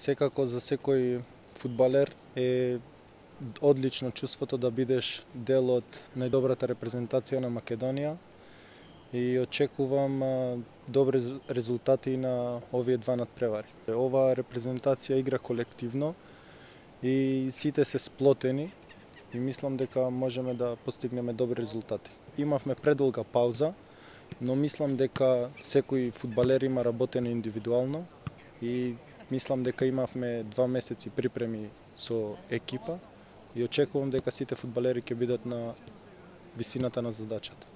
Секако за секој фудбалер е одлично чувството да бидеш дел од најдобрата репрезентација на Македонија и очекувам добри резултати на овие два надпревари. Оваа репрезентација игра колективно и сите се сплотени и мислам дека можеме да постигнеме добри резултати. Имавме предолга пауза, но мислам дека секој фудбалер има работено индивидуално и мислам дека имавме 2 месеци припреми со екипа и очекувам дека сите фудбалери ќе бидат на висината на задачата.